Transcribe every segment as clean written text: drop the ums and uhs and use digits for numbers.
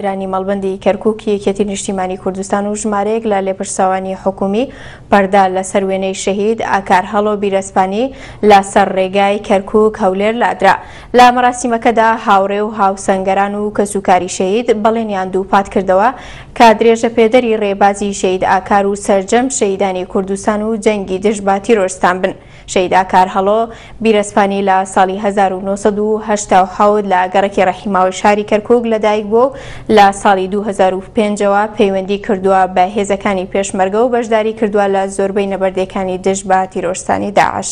درانی مەڵبەندی کەرکوکی یەکێتی نیشتیمانی کوردستان و ژمارەیەک لە لێپرساوانی حکومی پەردە لەسەر وێنەی شەهید ئاکار هەڵۆ بیرەسپانی لە سەر ڕێگای کەرکوک هەولێر لادرا. لە مەراسیمەکەدا هاوڕێ و هاوسەنگەران و کەسوکاری شەهید بەڵێنیان دووپات کردەوە کە درێژەپێدەری ڕێبازی شەهید ئاکار و سەرجەم شەهیدانی کوردستان و جەنگی دژ بە تیرۆرستان بن. شەهید ئاکار هەڵۆ بیرەسپانی لە ساڵی 1987 لە گەڕەکی ڕەحیماوەی شاری کەرکوک لەدایک بووە و لە ساڵی 2005 ەوە پەیوەندی کردووە بە هێزەکانی پێشمەرگە و بەشداری کردووە لە زۆربەی نەبەردێکانی دژ بە تیرۆرستانی داعش.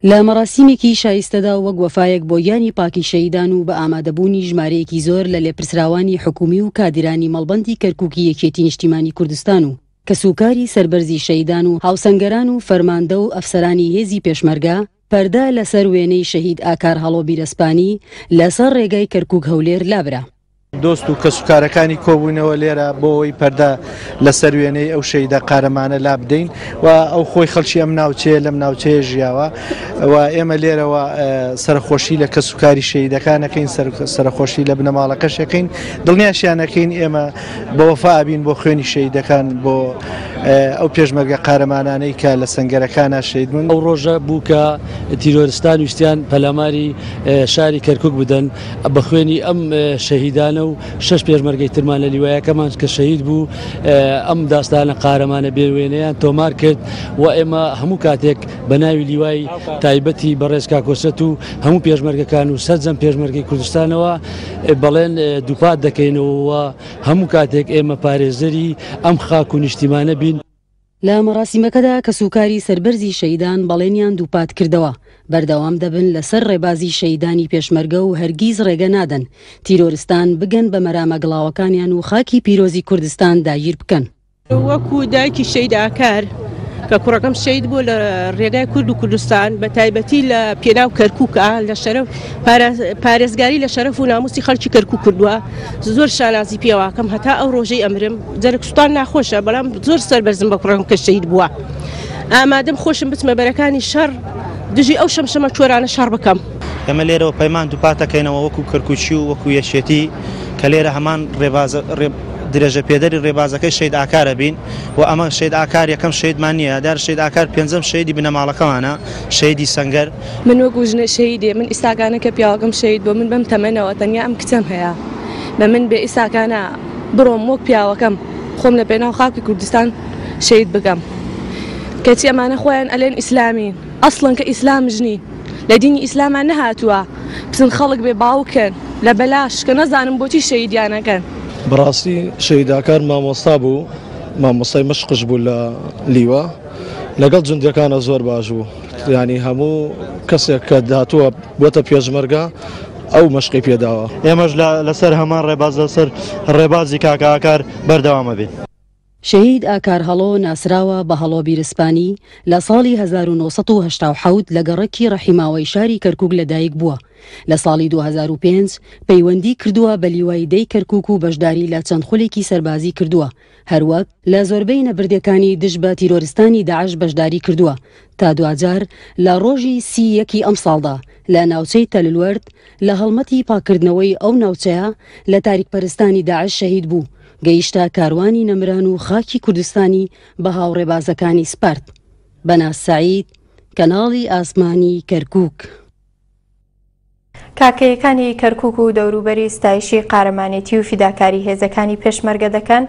لە مەراسیمێکی شایستەدا و وەک وەفایەک بۆ گیانی پاکی شەهیدان و بە ئامادەبوونی ژمارەیەکی زۆر لە لێپرسراوانی حکومی و کادیرانی مەڵبەندی کەرکوکی یەکێتی نیشتیمانی کوردستان و کەسوکاری سەربەرزی شەهیدان و هاوسەنگەران و فەرماندە و ئەفسەرانی هێزی پێشمەرگە، پەردە لەسەر وێنەی شەهید ئاکار هەڵۆ بیرەسپانی لەسەر ڕێگای کەرکوک هەولێر لابرا. دۆست و کەسوکارەکانی کۆبووینەوە لێرە بۆ ئەوەی پەردە لەسەر وێنەی ئەو شەهیدە قارەمانە لابدەین و ئەو خۆی خەڵکی ئەم ناوچەیە لەم ناوچەیە ژیاوە و ئێمە لێرەوە سەرەخۆشی لە کەسوکاری شەهیدەکان ئەکەین، سەرەخۆشی لە بنەماڵەکەش ئەکەین، دڵنیاشیان ئەکەین ئێمە بە وەفا ئەبین بۆ خوێنی شەهیدەکان، بۆ ئەو پێشمەرگە قارەمانانەی کە لە سەنگەرەکانا شەهید بوون. ئەو ڕۆژە بوو کە تیرۆرستان ویستیان پەلاماری شاری کەرکوک بدەن، بە خوێنی ئەم شەهیدانە و شەش پێشمەرگەی ترمان لە لیوایەکەمان کە شەهید بوو ئەم داستانە قارەمانە بێ وێنەیان تۆمار کرد و ئێمە هەموو کاتێک بە ناوی لیوای تایبەتی بەڕێز کاک کۆسرەت و هەموو پێشمەرگەکان و سەرجەم پێشمەرگەی کوردستانەوە بەڵێن دووپات دەکەینەوە و هەموو کاتێک ئێمە پارێزەری ئەم خاک و نیشتیمانە بین. لە مەراسیمەکەدا کەسوکاری سەربەرزی شەهیدان بەڵێنیان دووپات کردەوە، بەردەوام دەبن لەسەر ڕێبازی شەهیدانی پێشمەرگە و هەرگیز ڕێگە نادەن تیرۆرستان بگەن بە مەرامە گڵاوەکانیان و خاکی پیرۆزی کوردستان داگیر بکەن. وەکو دایکی شەهید ئاکار کە کوڕەکەم شەهید بووە لە ڕێگای کورد و کوردستان بە تایبەتی لە پێناو کەرکووکە لە شەرەف پارێزگاری لە شەرەف و ناموسی خەڵکی کەرکووک کردووە زۆر شانازی پێواکەم هەتا ئەو ڕۆژەی ئەمرم جەرگ سوتان ناخۆشە بەڵام زۆر سەربەرزم بە کوڕەکەم کە شەهید بووە ئامادەم خۆشم بچمە بەرەکانی شەڕ دژی ئەو شەمشەمە چۆرانە شەڕ بکەم. ئێمە لێرەوە پەیمان دووپاتەکەینەوە وەکو کەرکوکی و وەکو یەکێتی کە لێرە هەمان ڕێباز درێژەپێدەری ڕێبازەکەی شەهید ئاکارە بین و ئەمە شەهید ئاکار یەکەم شەهیدمان نییە، دیارە شەهید ئاکار پێنجەم شەهیدی بنەماڵەکەمانە، شەهیدی سەنگەر. من وەکو ژنە شەهیدێ من ئیستاکانە کە پیاوەکەم شەهید بووە من بەم تەمەنەوە تەنیا ئەم کچەم هەیە بە من بێ ئیستاکانە بڕۆم وەک پیاوەکەم خۆم لە پێناو خاکی کوردستان شەهید بکەم کەچی ئەمانە خۆیان ئەلێن ئیسلامین ئەسڵەن کە ئیسلامش نین لە دینی ئیسلاما نەهاتووە بچن خەڵک بێ باوکن لە بەلاش کە نەزانم بۆچی شەهیدیان ئەکەن. بەڕاستی شەهید ئاکار مامۆستا بوو مامۆستای مەشقش بوو لە لیوا لەگەڵ جوندیەکانە زۆر باش بوو یانی هەموو کەسێک کە هاتووە بۆتە پێشمەرگە ئەو مەشقی پێداوە. ئێمەش لەسەر هەمان ڕێباز لەسەر ڕێبازی کاکە ئاکار بەردەوام ئەبین. شەهید ئاکار هەڵۆ ناسراوە بە هەڵۆ بیرسپانی، لە ساڵی 1987 لە گەڕەکی ڕەحیماوەی شاری کەرکوک لەدایک بووە، لە ساڵی 2005 پەیوەندی کردووە بە لیوای دەی کەرکوک و بەشداری لە چەند خولێکی سەربازی کردووە، هەروەک لە زۆربەی نەبردەکانی دژ بە تیرۆرستانی داعش بەشداری کردووە، تا دواجار لە ڕۆژی سی یەکی ئەمساڵدا لە ناوچەی تەللوەرد لە هەڵمەتی پاککردنەوەی ئەو ناوچەیە لە تاریکپەرستانی داعش شەهید بوو. گەیشتە کاروانی نەمران و خاکی کوردستانی بە هاوڕێبازەکانی سپارد. بەناز سەعید، کەناڵی ئاسمانی کەرکووک. کاکەیەکانی کەرکوک و دەوروبەری ستایشی قارەمانێتی و فیداکاری هێزەکانی پێشمەرگە دەکەن.